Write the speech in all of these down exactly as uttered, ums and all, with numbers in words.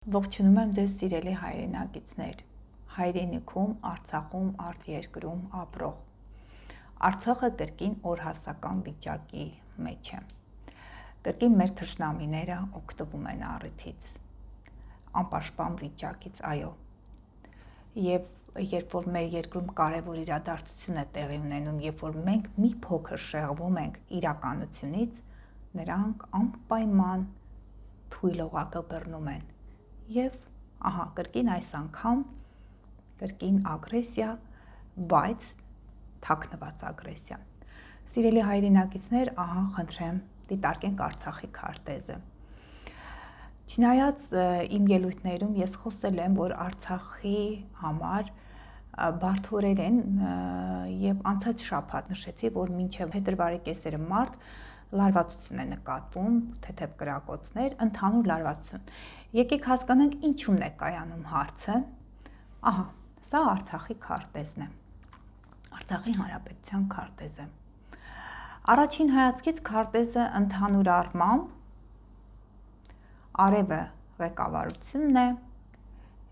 Ողջունում եմ ձեզ սիրելի հայրենակիցներ, հայրենիքում, Արցախում, արտերկրում ապրող։ Արցախը կրկին օրհասական վիճակի մեջ է։ Կրկին մեր թշնամիները օգտվում են առիթից, անպաշտպան վիճակից, այո։ Եվ երբ որ մեր երկրում կարևոր իրադարձություն է տեղի ունենում, երբ որ մենք մի փոքր շեղվում ենք իրականությունից, նրանք անպայման թույլ օղակը բռնում են։ Եվ ահա կրկին այս անգամ կրկին ագրեսիա, բայց թաքնված ագրեսիա։ Սիրելի հայրենակիցներ, ահա խնդրեմ դիտարկենք Արցախի քարտեզը։ Չնայած իմ ելույթներում ես խոսել եմ, որ Արցախի համար բարդորեն եւ անցած շաբաթ նշեցի, որ մինչեւ փետրվարի կեսերը մարտ լարվածություն է նկատվում, թեթև կրակոցներ, ընդհանուր լարվածություն։ Եկեք հասկանանք ինչու՞մն է կայանում հարցը։ Ահա, սա Արցախի քարտեզն է։ Արցախի Հանրապետության քարտեզը։ Առաջին հայացքից քարտեզը ընդհանուր առմամբ արևը ղեկավարությունն է,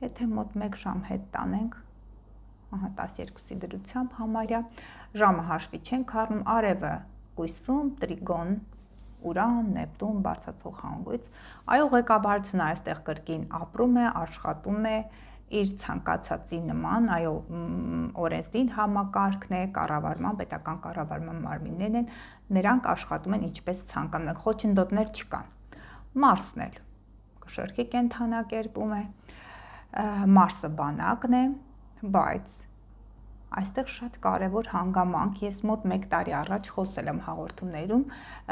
եթե մոտ մեկ ժամ հետ տանենք, ահա տասներկուսի դրությամբ համարյա, ժամը հաշվի չենք առնում, արևը կույսում, տրիգոն, Ուրան, Նեպտուն, բարձրացող հանգույց, այո ղեկավարությունը այստեղ կրկին ապրում է, աշխատում է իր ցանկացածի նման, այո օրենսդիր համակարգն է, կառավարման, պետական կառավարման մարմիններն են, նրանք աշխատում են ինչպես ցանկանում են, խոչընդոտներ չկան։ Մարսն էլ կշռքի կենդանակերպում է, Մարսը բանակն է, բայց այստեղ շատ կարևոր հանգամանք, ես մոտ մեկ տարի առաջ խոսել եմ հաղորդումներում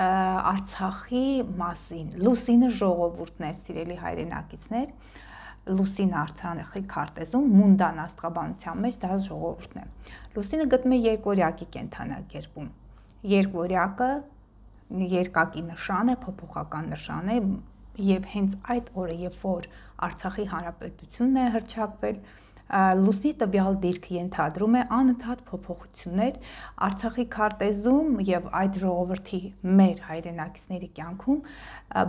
Արցախի մասին, Լուսինը ժողովուրդն է, սիրելի հայրենակիցներ, Լուսին Արցախի քարտեզում Մունդան աստղաբանության մեջ դա ժողովուրդն է։ Լուսինը գտնվում է երկվորյակի կենդանակերպում։ Երկվորյակը երկակի նշան է, փոփոխական նշան է, եւ հենց այդ օրը, երբ որ Արցախի Հանրապետությունն է հռչակվել, Լուսնի տվյալ դիրքը ենթադրում է անընդհատ փոփոխություններ Արցախի քարտեզում եւ այդ ժողովրդի մեր հայրենակիցների կյանքում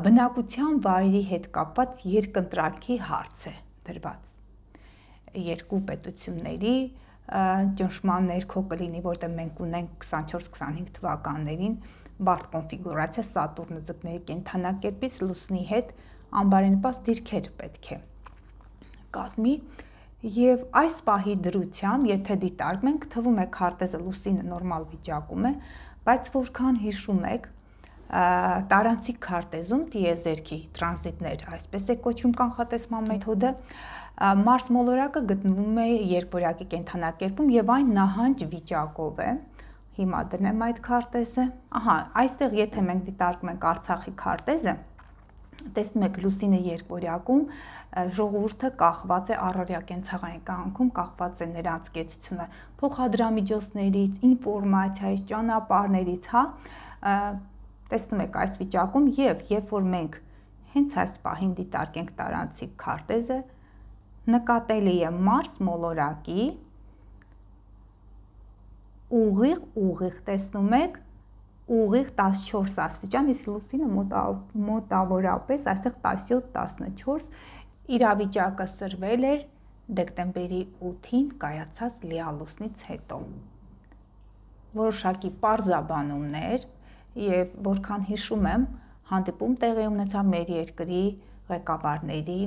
բնակության վայրի հետ կապված երկընտրանքի հարց է դրված։ Երկու պետությունների ճնշման ներքո կլինի, որտեղ մենք ունենք քսանչորս քսանհինգ թվականներին բարդ կոնֆիգուրացիա Սատուրնը ձկների կենդանակերպից Լուսնի հետ անբարենպաստ դիրքեր պետք է կազմի։ Եվ այս պահի դրությամբ, եթե դիտարկում ենք, թվում է քարտեզը Լուսինը նորմալ վիճակում է, բայց որքան հիշում եք, տարանցիկ քարտեզում տիեզերքի տրանզիտներ, այսպես է կոչվում կանխատեսման մեթոդը, Մարս մոլորակը գտնվում է երկվորյակի կենդանակերպում եւ այն նահանջ վիճակով է։ Հիմա դնեմ այդ քարտեզը։ Ահա, այստեղ եթե մենք դիտարկում ենք Արցախի քարտեզը, տեսնում եք Լուսինը երկվորյակում ժողովուրդը կախված է առօրյա կենցաղային կյանքում, կախված է նրանց կեցությունը փոխադրամիջոցներից, ինֆորմացիայից, ճանապարհներից, հա, տեսնում եք այս վիճակում եւ երբ որ մենք հենց այս պահին դիտարկենք տարանցիկ քարտեզը, նկատելի է Մարս մոլորակի ուղիղ ուղիղ տեսնում եք ուղիղ տասնչորս աստիճան, իսկ Լուսինը մոտավորապես այստեղ տասնյոթ տասնչորս իրավիճակը սրվել էր դեկտեմբերի ութին կայացած լիալուսնից հետո։ Որոշակի պարզաբանումներ եւ որքան հիշում եմ, հանդիպում տեղի ունեցավ մեր երկրի ղեկավարների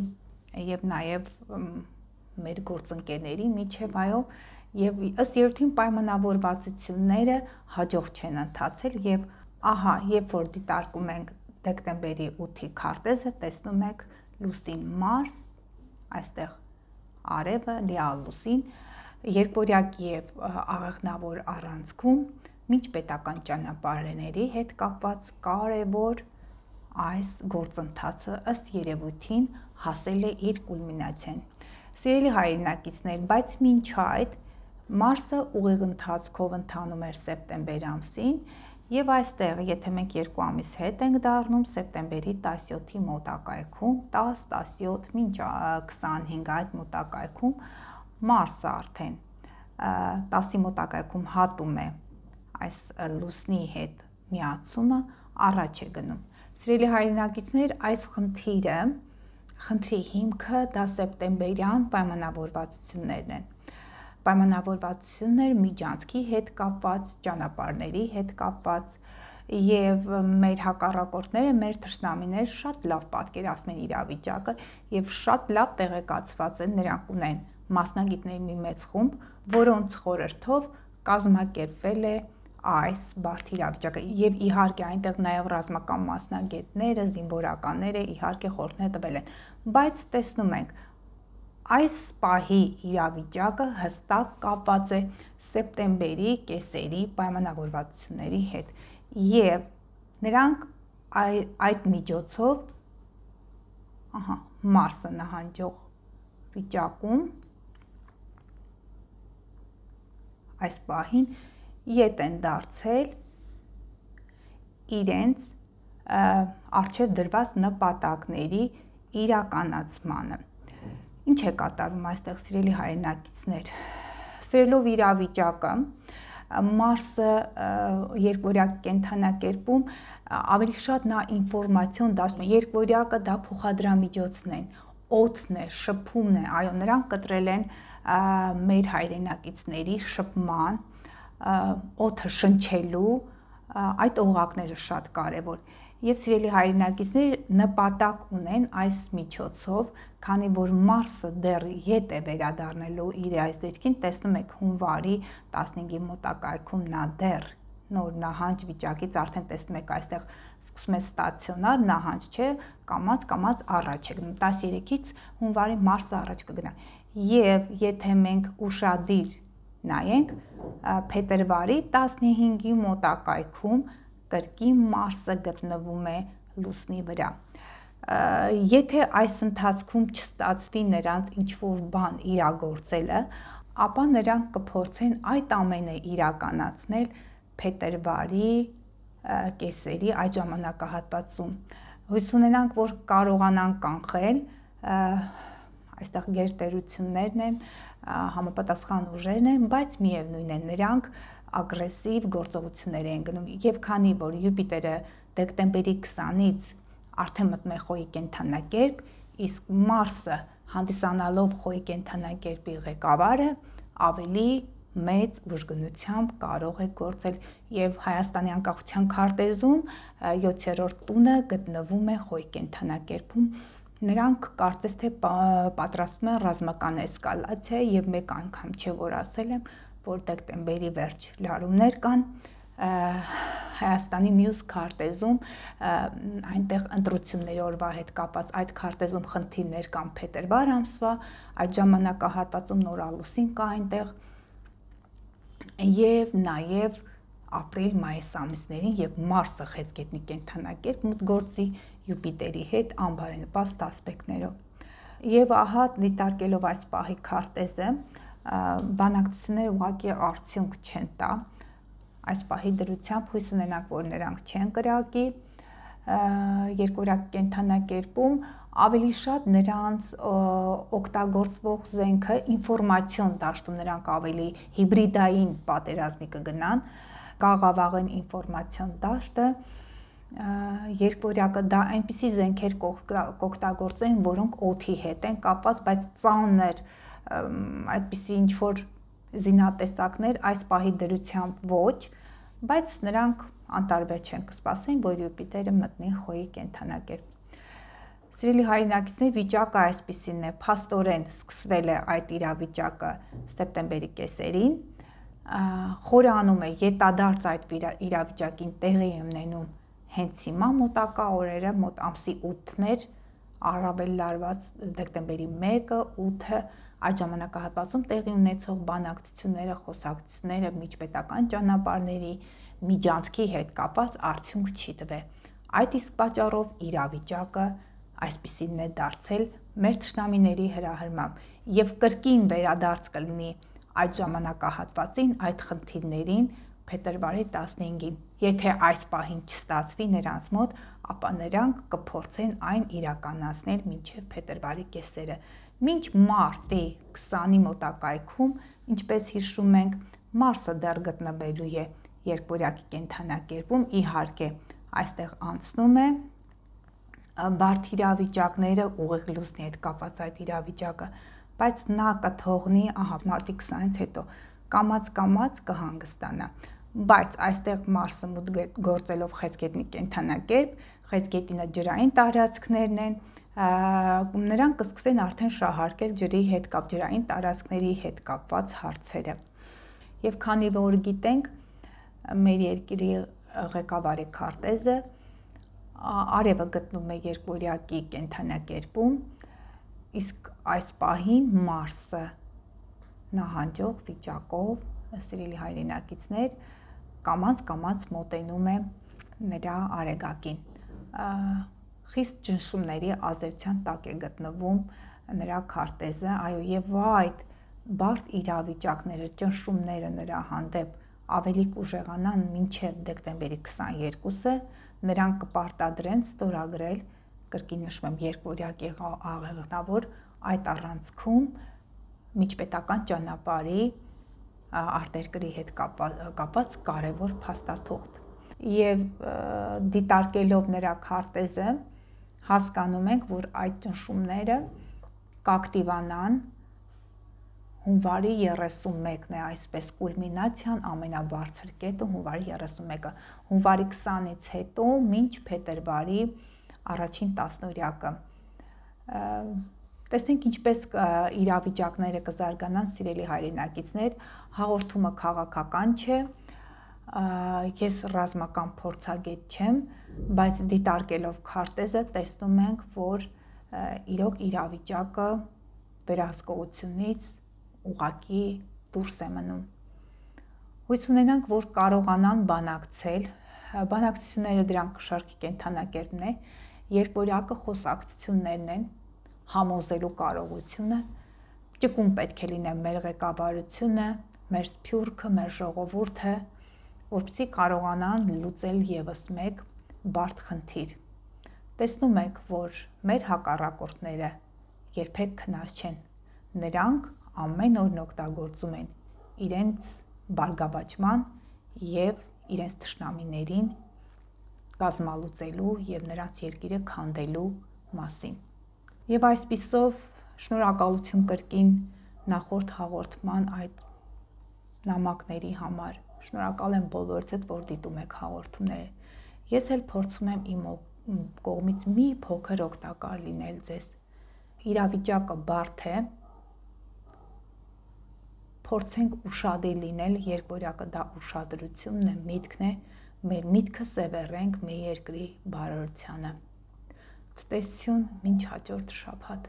եւ նաեւ մեր գործընկերների միջև, այո, եւ ըստ երևույթին պայմանավորվածությունները հաջող չեն ընթացել եւ ահա, երբ որ դիտարկում ենք դեկտեմբերի ութի քարտեզը, տեսնում եք Լուսին Մարս, այստեղ արևը, լիալուսին, երկվորյակի եւ աղեղնավոր առանցքում միջպետական ճանապարհների հետ կապված կարևոր այս գործընթացը ըստ երևույթին հասել է իր կուլմինացիան։ Սիրելի հայրենակիցներ, բայց մինչ այդ Մարսը ուղիղ ընթացքով ընթանում էր սեպտեմբեր ամսին եւ այստեղ, եթե մենք երկու ամիս հետ ենք դառնում, սեպտեմբերի տասնյոթի մոտակայքում, տաս, տասնյոթ, մինչ քսանհինգ այդ մոտակայքում Մարսը արդեն տասի մոտակայքում հատում է այս Լուսնի հետ միացումը, առաջ է գնում։ Սիրելի հայրենակիցներ, այս խնդիրը Խնդրի հիմքը դա սեպտեմբերյան պայմանավորվածություններն են։ Պայմանավորվածություններ միջանցքի հետ կապված, ճանապարհների հետ կապված, եւ մեր հակառակորդները, մեր թշնամիները շատ լավ պատկերացնում են իրավիճակը եւ շատ լավ տեղեկացված են, նրանք ունեն մասնագետների մի մեծ խումբ, որոնց խորհրդով կազմակերպվել է այս բարդ իրավիճակը եւ իհարկե այնտեղ նաեւ ռազմական մասնագետները, զինվորականները իհարկե խորհուրդներ տվել են, բայց տեսնում ենք այս պահի իրավիճակը հստակ կապված է սեպտեմբերի կեսերի պայմանավորվածությունների հետ եւ նրանք այ, այդ միջոցով ահա Մարսը նահանջող վիճակում այս պահին ետ են դարձել իրենց առջև դրված նպատակների իրականացմանը։ Ինչ է կատարվում այստեղ, սիրելի հայրենակիցներ, սերելով իրավիճակը, Մարսը երկվորյակ կենդանակերպում ավելի շատ նա ինֆորմացիոն դասում է, երկվորյակը դա փոխադրամիջոցն են, օդն է, շփումն է, այո, նրանք կտրել են մեր հայրենակիցների շփման, օդը շնչելու, այդ օղակները շատ կարևոր։ Եվ սիրելի հայրենակիցներ նպատակ ունեն այս միջոցով, քանի որ Մարսը դեռ ետ է վերադառնալու իր այս դիրքին, տեսնում եք հունվարի տասնհինգի մոտակայքում նա դեռ նոր նահանջ վիճակից արդեն տեսնում եք այստեղ սկսում է ստացիոնար նահանջ, չէ, կամած կամած առաջ է գնում, տասներեքից հունվարի Մարսը առաջ կգնա։ Եվ եթե մենք ուշադիր նայենք, փետրվարի տասնհինգի մոտակայքում կրկին Մարսը գտնվում է լուսնի վրա։ Եթե այս ընթացքում չստացվի նրանց ինչ-որ բան իրագործելը, ապա նրանք կփորձեն այդ ամենը իրականացնել փետրվարի կեսերի այդ ժամանակահատվածում։ Հույս ունենանք, որ կարողանան կանխել, այստեղ գերտերություններն են, համապատասխան ուժերն են, բայց միևնույն է նրանք ագրեսիվ գործողություններ են գնում եւ քանի որ Յուպիտերը դեկտեմբերի քսանից արդեն մտնում է Խոյի կենդանակերպ, իսկ Մարսը հանդիսանալով Խոյի կենդանակերպի ղեկավարը ավելի մեծ ուժգնությամբ կարող է գործել եւ Հայաստանի անկախության քարտեզում յոթերորդ տունը գտնվում է Խոյի կենդանակերպում։ Նրանք կարծես թե պատրաստվում են ռազմական էսկալացիա եւ մեկ անգամ չէ որ ասել եմ, որ դեկտեմբերի վերջ լարումներ կան Հայաստանի մյուս քարտեզում, այնտեղ ընտրությունների օրվա հետ կապած այդ քարտեզում խնդիրներ կան փետրվար ամսվա, այդ ժամանակահատվածում նորալուսին կա այնտեղ եւ նաեւ ապրիլ-մայիս ամիսներին, երբ Մարսը խեցգետնի կենդանակերպ մուտքգործի Յուպիտերի հետ անբարենպաստ ասպեկտներով։ Եվ ահա դիտարկելով այս պահի քարտեզը, բանակցությունները ուղղակի արդյունք չեն տա, այս պահի դրությամբ հույս ունենանք, որ նրանք չեն կրակի, երկորյակ կենդանակերպում ավելի շատ նրանց օգտագործվող զենքը ինֆորմացիոն դաշտում, նրանք ավելի հիբրիդային պատերազմի կգնան, կաղավաղեն ինֆորմացիոն դաշտը, երկվորյակը դա այնպիսի զենքեր կօգտագործեն, որոնք օդի հետ են կապված, բայց ծանր այդպիսի ինչ-որ զինատեսակներ այս պահի դրությամբ ոչ, բայց նրանք անտարբեր չեն կսպասեն, որ Յուպիտերը մտնի Խոյի կենդանակերպ։ Սիրելի հայրենակիցներ, վիճակը այսպիսին է, փաստորեն սկսվել է այդ իրավիճակը սեպտեմբերի կեսերին, խորանում է ետադարձ այդ իրավիճակին տեղի ունենում հենց հիմա մոտակա օրերը, մոտ ամսի ութներ, առավել լարված դեկտեմբերի մեկը, ութը այդ ժամանակահատվածում տեղի ունեցող բանակցությունները, խոսակցությունները միջպետական ճանապարհների միջանցքի հետ կապված արդյունք չի տվել։ Այդ իսկ պատճառով իրավիճակը այսպիսին է դարձել մեր թշնամիների հրահրմամբ եւ կրկին վերադարձ կլինի այդ ժամանակահատվածին, այդ խնդիրներին փետրվարի տասնհինգին։ Եթե այս պահին չստացվի նրանց մոտ, ապա նրանք կփորձեն այն իրականացնել մինչև փետրվարի կեսերը։ Մինչ մարտի քսանի մոտակայքում, ինչպես հիշում ենք, Մարսը դեռ գտնվելու է երկվորյակի կենդանակերպում, իհարկե այստեղ անցնում է բարդ իրավիճակները ուղիղ լուսնի հետ կապված այդ իրավիճակը, բայց նա կթողնի, ահա, մարտի քսանից հետո կամած-կամած կհանգստանա։ Բայց այստեղ Մարսը մուտք գործելով Խեցգետնի կենդանակերպ, Խեցգետինը ջրային տարածքներն են, նրանք կսկսեն արդեն շահարկել ջրի հետ կապ, ջրային տարածքների հետ կապված հարցերը։ Եվ քանի որ գիտենք, մեր երկրի ղեկավարի քարտեզը արևը գտնվում է երկորյակի կենդանակերպում, իսկ այս պահին Մարսը նահանջող վիճակով, սիրելի հայրենակիցներ, կամած-կամած մոտենում է նրա արեգակին։ Խիստ ճնշումների ազդեցության տակ է գտնվում նրա քարտեզը, այո, եւ այդ բարդ իրավիճակները, ճնշումները նրա հանդեպ ավելի կուժեղանան մինչև դեկտեմբերի քսաներկուսը, նրանք կպարտադրեն ստորագրել, կրկին նշում եմ, երկորյակի աղեղնավոր այդ առանցքում միջպետական ճանապարհի արտերկրի հետ կապված կարևոր փաստաթուղթ։ Եվ դիտարկելով նրա քարտեզը, հասկանում ենք, որ այդ ճնշումները կակտիվանան հունվարի երեսունմեկն է այսպես կուլմինացիան, ամենաբարձր կետը հունվարի երեսունմեկը, հունվարի քսանից հետո մինչ փետրվարի առաջին տասնօրյակը։ Տեսնենք ինչպես իրավիճակները կզարգանան, սիրելի հայրենակիցներ, հաղորդումը քաղաքական չէ, ես ռազմական փորձագետ չեմ, բայց դիտարկելով քարտեզը տեսնում ենք, որ իրոք իրավիճակը վերահսկողությունից ուղղակի դուրս է մնում։ Հույս ունենանք, որ կարողանան բանակցել, բանակցությունները դրանք շարքի կենդանակերպն է, երկորյակը խոսակցություններն են, համոզելու կարողությունը, ճկուն պետք է լինի մեր ղեկավարությունը, մեր սփյուռքը, մեր ժողովուրդը, որպեսզի կարողանան լուծել եւս մեկ բարդ խնդիր։ Տեսնում եք, որ մեր հակառակորդները երբեք քնած չեն, նրանք ամեն օր օգտագործում են իրենց բարգավաճման եւ իրենց թշնամիներին կազմալուծելու եւ նրանց երկիրը քանդելու մասին։ Եվ այսպիսով շնորհակալություն կրկին նախորդ հաղորդման այդ նամակների համար։ Շնորհակալ եմ բոլորիցդ, որ դիտում եք հաղորդումները։ Ես էլ փորձում եմ իմ կողմից մի փոքր օգտակար լինել ձեզ։ Իրավիճակը բարդ է, փորձենք ուշադիր լինել, երկորյակը դա ուշադրությունն է, միտքն է, մեր միտքը սևեռենք մեր երկրի բարօրությանը։ Ցտեսություն, մինչ հաջորդ շաբաթ։